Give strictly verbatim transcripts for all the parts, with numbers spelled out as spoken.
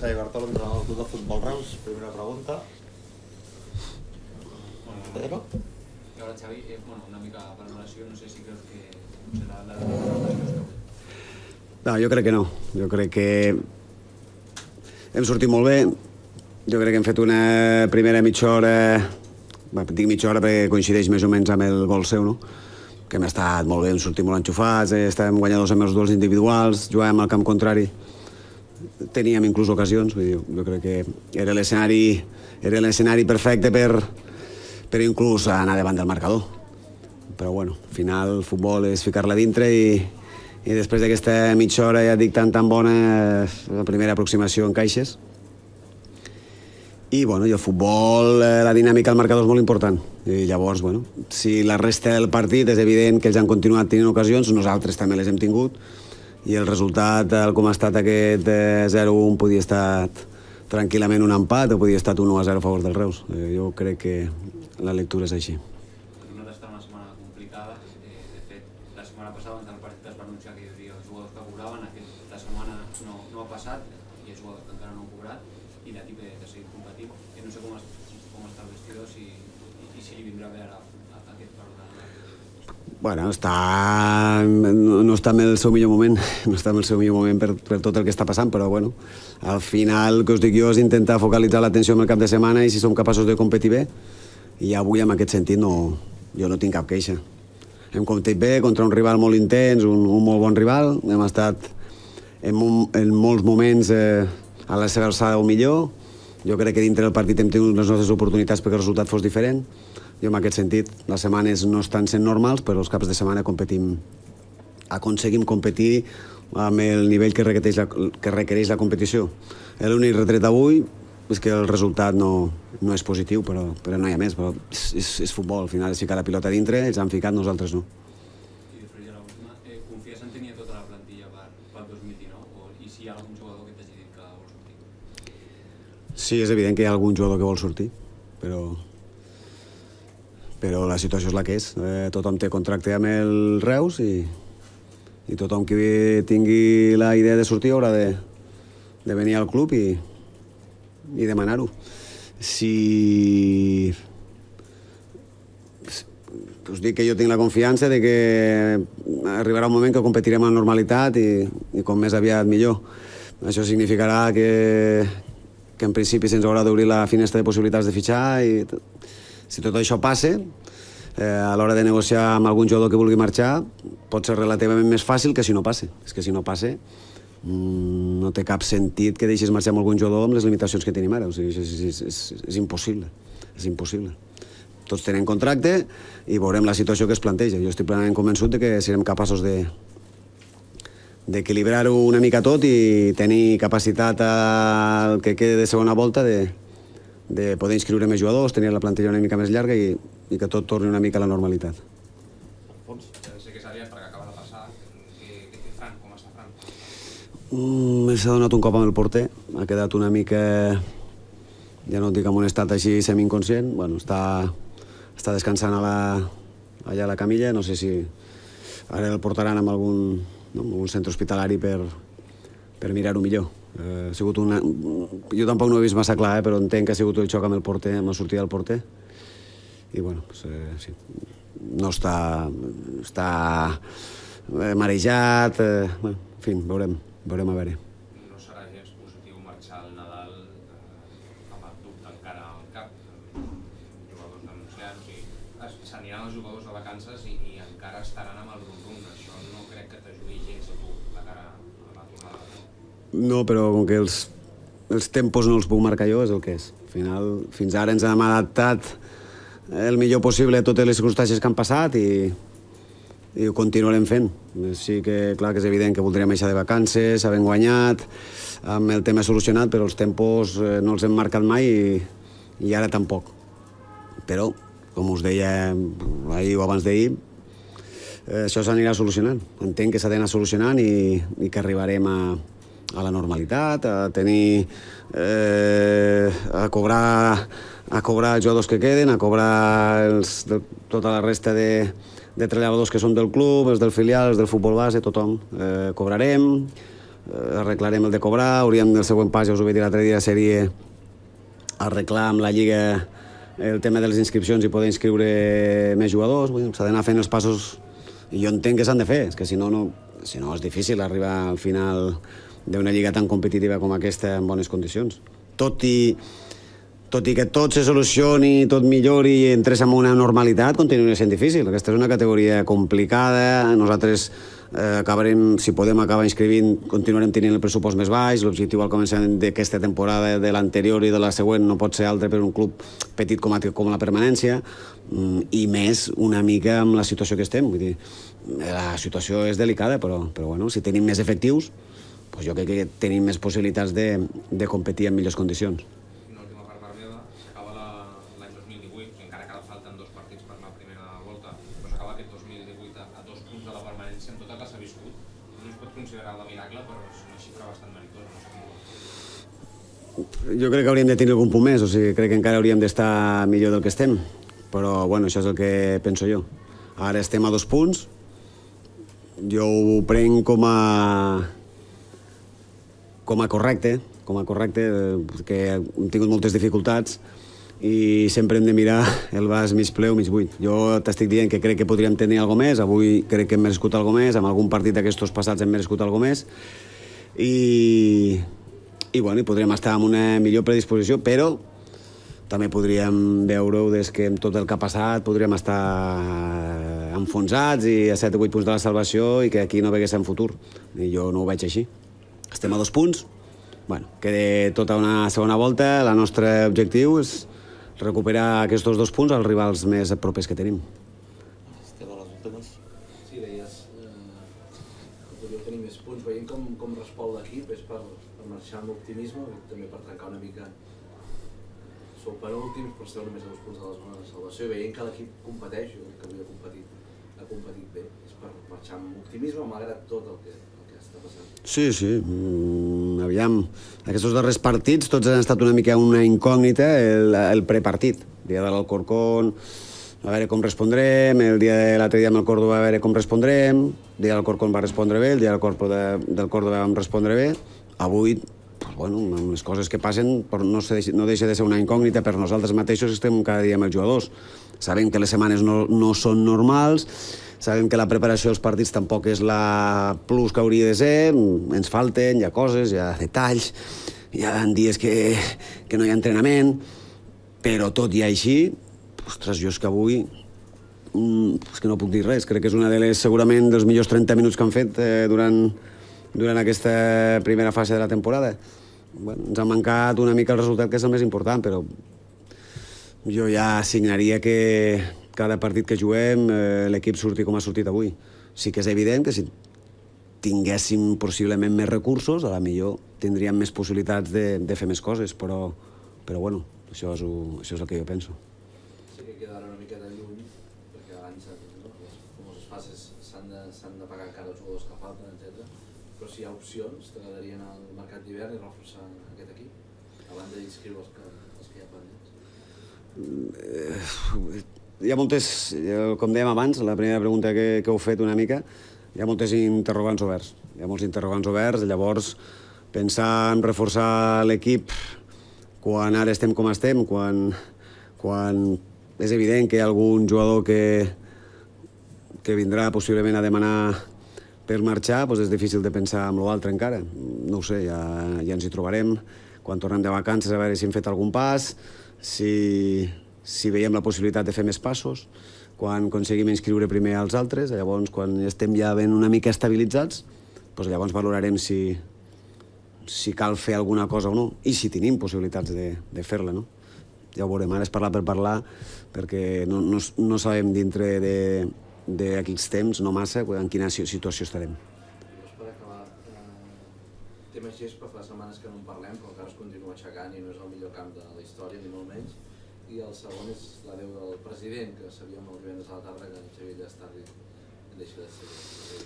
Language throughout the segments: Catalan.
Xavi Bartolo, entrenador del Club de Futbol Reus. Primera pregunta. Bueno, i ara, Xavi, eh, bueno, una mica per relació, no sé si creus que serà la de... No, jo crec que no. Jo crec que hem sortit molt bé. Jo crec que hem fet una primera mitja hora, bé, dic mitja hora perquè coincideix més o menys amb el gol seu, no? Que hem estat molt bé, hem sortit molt enxufats, eh, estàvem guanyadors amb els duels individuals, jugàvem al camp contrari, teníem inclús ocasions, vull dir, jo crec que era l'escenari era l'escenari perfecte per, per inclús anar davant del marcador. Però bueno, al final el futbol és ficar-la dintre i, i després d'aquesta mitja hora, ja dic, tan tan bona, la primera aproximació en caixes. I, bueno, i el futbol, la dinàmica del marcador és molt important. I llavors, bueno, si la resta del partit és evident que ells han continuat tenint ocasions, nosaltres també les hem tingut, i el resultat, tal com ha estat aquest zero a un, podia estar tranquil·lament un empat o podia estar un u a zero a favor del Reus. Jo crec que la lectura és així. No d'estar una setmana complicada. De fet, la setmana passada, abans del partit, es va anunciar que hi hauria els jugadors que cobraven. Aquesta setmana no, no ha passat, hi ha jugadors que encara no han cobrat, i l'equip de, de seguir competint. Que no sé com, es, com està el vestidor si, i, i si li vindrà bé ara aquest partit. Bueno, està... no, no està en el seu millor moment, no està en el seu millor moment per, per tot el que està passant, però bueno, al final el que us dic jo és intentar focalitzar l'atenció en el cap de setmana i si som capaços de competir bé, i avui en aquest sentit no, jo no tinc cap queixa. Hem competit bé contra un rival molt intens, un, un molt bon rival, hem estat en, un, en molts moments eh, a la seva alçada o millor. Jo crec que dintre del partit hem tingut les nostres oportunitats perquè el resultat fos diferent. Jo en aquest sentit, les setmanes no estan sent normals, però els caps de setmana competim, aconseguim competir amb el nivell que requereix la, que requereix la competició. L'únic retret avui és que el resultat no, no és positiu, però, però no hi ha més. Però és, és, és futbol, al final és ficar la pilota dintre, ells han ficat, nosaltres no. I després ja l'última, eh, confies en tenir tota la plantilla per, per dos mil dinou? O, I si hi ha algun jugador que t'hagi dit que vol sortir? Sí, és evident que hi ha algun jugador que vol sortir, però... però la situació és la que és. Eh, tothom té contracte amb el Reus i, i tothom que tingui la idea de sortir haurà de, de venir al club i, i demanar-ho. Si... us dic que jo tinc la confiança de que arribarà un moment que competirem amb normalitat i, i com més aviat millor. Això significarà que, que en principi se'ns haurà d'obrir la finestra de possibilitats de fitxar i si tot això passa, eh, a l'hora de negociar amb algun jugador que vulgui marxar, pot ser relativament més fàcil que si no passa. És que si no passa, mmm, no té cap sentit que deixis marxar amb algun jugador amb les limitacions que tenim ara. O sigui, és, és, és, és impossible. És impossible. Tots tenen contracte i veurem la situació que es planteja. Jo estic plenament convençut de que serem capaços de d'equilibrar-ho una mica tot i tenir capacitat al que quede de segona volta de de poder inscriure més jugadors, tenir la plantilla una mica més llarga i, i que tot torni una mica a la normalitat. Alfons, sé que és aviat perquè acaba de passar. Què té Fran? Com està Fran? Mm, S'ha donat un cop amb el porter, ha quedat una mica, ja no et dic en un estat així semi-inconscient, bueno, està, està descansant a la, allà a la camilla, no sé si ara el portaran amb algun, no, algun centre hospitalari per, per mirar-ho millor. Eh, ha sigut una... Jo tampoc no ho he vist massa clar, eh, però entenc que ha sigut el xoc amb el porter, amb la sortida del porter. I bueno, pues, eh, sí. No està... està eh, marejat... Eh, bueno, en fi, veurem, veurem a veure. No serà gens positiu marxar al Nadal eh, amb el dubte encara al cap, amb jugadors denunciats, o sigui, s'aniran els jugadors de vacances i, i encara estaran amb el rum-rum. Això no crec que t'ajudi gens a tu de cara a la tornada. No, però com que els, els tempos no els puc marcar jo, és el que és. Al final, fins ara ens hem adaptat el millor possible a totes les circumstàncies que han passat i, i ho continuarem fent. Sí que, clar, que és evident que voldríem deixar de vacances, havent guanyat, amb el tema solucionat, però els tempos eh, no els hem marcat mai i, i ara tampoc. Però, com us deia ahir o abans d'ahir, eh, això s'anirà solucionant. Entenc que s'ha d'anar solucionant i, i que arribarem a a la normalitat, a tenir... Eh, a cobrar a cobrar els jugadors que queden, a cobrar els, de, tota la resta de, de treballadors que són del club, els del filial, els del futbol base, tothom. Eh, cobrarem, arreglarem el de cobrar, hauríem del següent pas, ja us ho vaig dir l'altre dia, seria arreglar amb la Lliga el tema de les inscripcions i poder inscriure més jugadors. S'ha d'anar fent els passos, i jo entenc que s'han de fer, és que si no, no, si no és difícil arribar al final d'una lliga tan competitiva com aquesta en bones condicions. Tot i, tot i que tot se solucioni, tot millori i entrés en una normalitat, continua sent difícil. Aquesta és una categoria complicada, nosaltres eh, acabarem, si podem acabar inscrivint, continuarem tenint el pressupost més baix, l'objectiu al començament d'aquesta temporada, de l'anterior i de la següent, no pot ser altre per un club petit com, a, com la permanència, i més una mica amb la situació que estem. Vull dir, la situació és delicada, però, però bueno, si tenim més efectius, doncs jo crec que tenim més possibilitats de, de competir en millors condicions. Una última part per meva, s'acaba l'any dos mil divuit, encara que ara falten dos partits per la primera volta, però s'acaba aquest dos mil divuit a, a dos punts de la permanència amb tot el que s'ha viscut. No es pot considerar la miracle, però és una xifra bastant meritosa. No sé. Jo crec que hauríem de tenir algun punt més, o sigui, crec que encara hauríem d'estar millor del que estem, però bueno, això és el que penso jo. Ara estem a dos punts, jo ho prenc com a com a correcte, com a correcte, que hem tingut moltes dificultats i sempre hem de mirar el vas mig ple o mig buit. Jo t'estic dient que crec que podríem tenir alguna més, avui crec que hem merescut alguna més, amb algun partit d'aquests passats hem merescut alguna més, i, i, bueno, i podríem estar en una millor predisposició, però també podríem veure-ho des que amb tot el que ha passat podríem estar enfonsats i a set o vuit punts de la salvació i que aquí no veguéssim futur. I jo no ho veig així. Estem a dos punts, bueno, queda tota una segona volta, el nostre objectiu és recuperar aquests dos punts als rivals més propers que tenim. Estem a les últimes. Sí, deies eh, que podríeu tenir més punts, veient com, com respon l'equip, és per, per marxar amb optimisme, també per trencar una mica. Sou penúltims, però esteu només a dos punts de la zona de salvació, i veient que l'equip competeix, jo crec que avui ha competit, ha competit bé, és per marxar amb optimisme, malgrat tot el que, el que està passant. Sí, sí, mm, aviam, aquests darrers partits tots han estat una mica una incògnita, el, el prepartit, el dia de l'Alcorcón, a veure com respondrem, el dia de l'altre dia amb el Córdoba a veure com respondrem, el dia de l'Alcorcón va respondre bé, el dia del Córdoba, del Córdoba vam respondre bé, avui, pues, bueno, amb les coses que passen no, se, no deixa de ser una incògnita per nosaltres mateixos, estem cada dia amb els jugadors, sabem que les setmanes no, no són normals, sabem que la preparació dels partits tampoc és la plus que hauria de ser, ens falten, hi ha coses, hi ha detalls, hi ha dies que, que no hi ha entrenament, però tot i així, ostres, jo és que avui és que no puc dir res, crec que és una de les, segurament, dels millors trenta minuts que han fet eh, durant, durant aquesta primera fase de la temporada. Bueno, ens ha mancat una mica el resultat, que és el més important, però jo ja assignaria que cada partit que juguem eh, l'equip surti com ha sortit avui. Sí que és evident que si tinguéssim possiblement més recursos, a la millor tindríem més possibilitats de, de fer més coses, però, però bueno, això és, això és el que jo penso. Sí que queda una mica de lluny, perquè abans no, les famoses fases s'han de, s'han de pagar encara els jugadors que falten, etcètera. Però si hi ha opcions, t'agradarien al mercat d'hivern i reforçar aquest equip, abans d'inscriure els, que, els que hi ha pendents? Eh, hi ha moltes, com dèiem abans, la primera pregunta que, que heu fet una mica, hi ha moltes interrogants oberts. Hi ha molts interrogants oberts, llavors pensar en reforçar l'equip quan ara estem com estem, quan, quan és evident que hi ha algun jugador que, que vindrà possiblement a demanar per marxar, doncs és difícil de pensar en l'altre encara. No ho sé, ja, ja ens hi trobarem. Quan tornem de vacances a veure si hem fet algun pas, si... si veiem la possibilitat de fer més passos, quan aconseguim inscriure primer als altres, llavors quan estem ja ben una mica estabilitzats, doncs llavors valorarem si, si cal fer alguna cosa o no, i si tenim possibilitats de, de fer-la, no? Ja ho veurem, ara és parlar per parlar, perquè no, no, no sabem dintre d'aquests temps, no massa, en quina situació estarem. Llavors, per acabar, eh, tema gespa, fa setmanes que no en parlem, però encara es continua aixecant i no és el millor camp de la història, ni molt menys. I el segon és la veu del president, que sabíem el divendres a la tarda que en Xavier Llestarri deixa de ser.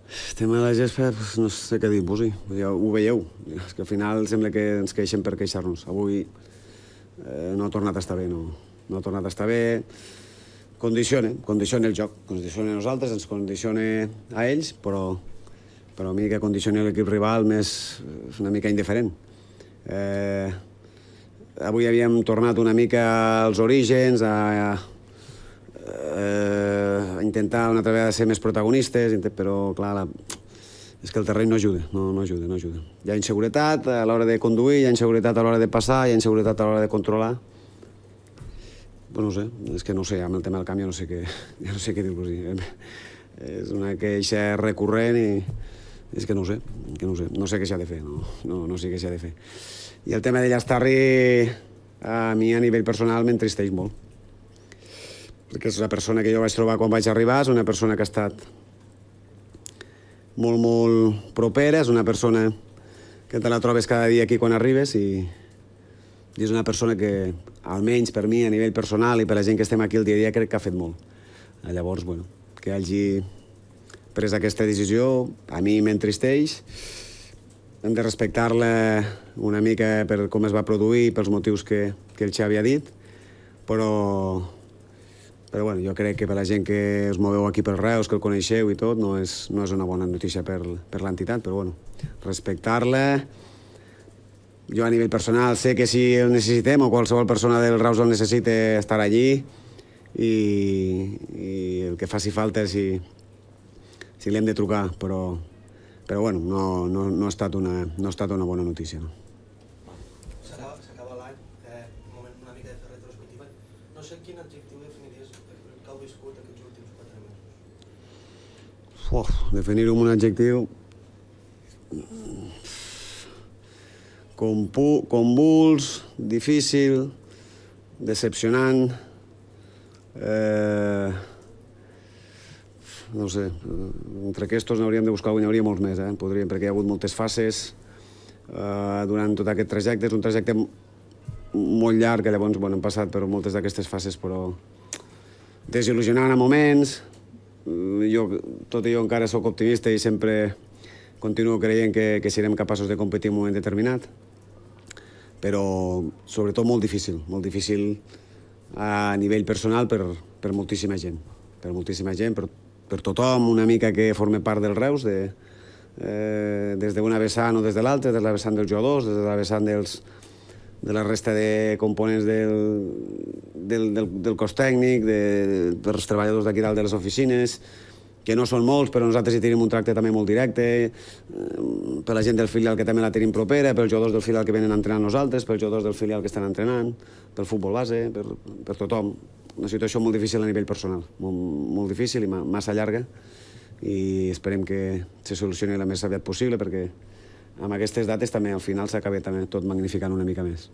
El tema de la gespa, no sé què dir-vos, ja ho veieu. És que al final sembla que ens queixem per queixar-nos. Avui eh, no ha tornat a estar bé, no, no ha tornat a estar bé. Condiciona, condiciona el joc, condiciona a nosaltres, ens condiciona a ells, però, però a mi que condicioni l'equip rival m'és una mica indiferent. Eh, avui havíem tornat una mica als orígens, a, a intentar una altra vegada ser més protagonistes, però clar, la, és que el terreny no ajuda, no, no ajuda, no ajuda. Hi ha inseguretat a l'hora de conduir, hi ha inseguretat a l'hora de passar, hi ha inseguretat a l'hora de controlar. Pues no sé, és que no sé, amb el tema del camp ja no sé què, ja no sé què dir-vos. És una queixa recurrent i és que no sé, que no sé, no sé què s'ha de fer, no, no, no sé què s'ha de fer. I el tema de Llastarri a mi a nivell personal m'entristeix molt. Perquè és la persona que jo vaig trobar quan vaig arribar, és una persona que ha estat molt, molt propera, és una persona que te la trobes cada dia aquí quan arribes i, i és una persona que, almenys per mi, a nivell personal i per la gent que estem aquí el dia a dia, crec que ha fet molt. Llavors, bueno, que hagi pres aquesta decisió, a mi m'entristeix. Hem de respectar-la una mica per com es va produir, pels motius que, que el Xavi ha dit, però, però bueno, jo crec que per la gent que us moveu aquí per Reus, que el coneixeu i tot, no és, no és una bona notícia per, per l'entitat, però bueno, respectar-la. Jo a nivell personal sé que si el necessitem o qualsevol persona del Reus el necessita estar allí i, i el que faci falta si, si l'hem de trucar, però, però bueno, no, no, no, ha estat una, no ha estat una bona notícia. No? S'acaba l'any, eh, un moment una mica de fer retrospectiva. No sé quin adjectiu definiries el que heu viscut aquests últims quatre mesos. Uf, definir-ho amb un adjectiu... convuls, difícil, decepcionant, eh, no sé, entre aquests n'hauríem de buscar, n'hi hauria molts més, eh? Podríem, perquè hi ha hagut moltes fases eh, durant tot aquest trajecte. És un trajecte molt llarg, que llavors bueno, hem passat per moltes d'aquestes fases, però desil·lusionant a moments. Jo, tot i jo encara sóc optimista i sempre continuo creient que, que serem capaços de competir en un moment determinat, però sobretot molt difícil, molt difícil a nivell personal per, per moltíssima gent, per moltíssima gent, per, per tothom una mica que forma part del Reus, de, eh, des d'una vessant o des de l'altra, des de la vessant dels jugadors, des de la vessant dels, de la resta de components del, del, del, del cos tècnic, de, dels treballadors d'aquí dalt de les oficines, que no són molts, però nosaltres hi tenim un tracte també molt directe, per la gent del filial que també la tenim propera, pels jugadors del filial que venen a entrenar nosaltres, pels jugadors del filial que estan entrenant, pel futbol base, per, per tothom. Una situació molt difícil a nivell personal, molt, molt difícil i massa llarga, i esperem que se solucioni el més aviat possible, perquè amb aquestes dates també al final s'acaba també tot magnificant una mica més.